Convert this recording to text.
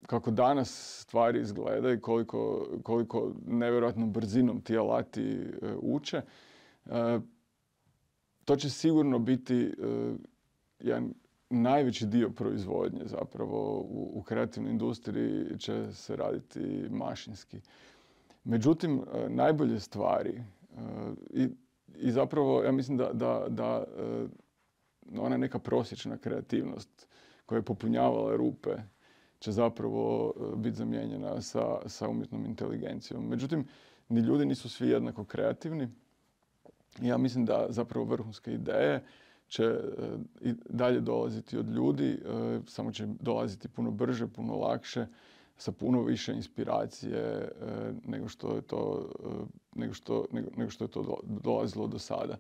kako danas stvari izgledaju i koliko nevjerojatnom brzinom ti alati uče, to će sigurno biti jedan najveći dio proizvodnje zapravo u kreativnoj industriji će se raditi mašinski. Međutim, najbolje stvari i zapravo ja mislim da ona neka prosječna kreativnost koja je popunjavala rupe će zapravo biti zamijenjena sa umjetnom inteligencijom. Međutim, ni ljudi nisu svi jednako kreativni. Ja mislim da zapravo vrhunske ideje će i dalje dolaziti od ljudi, samo će dolaziti puno brže, puno lakše, sa puno više inspiracije nego što je to dolazilo do sada.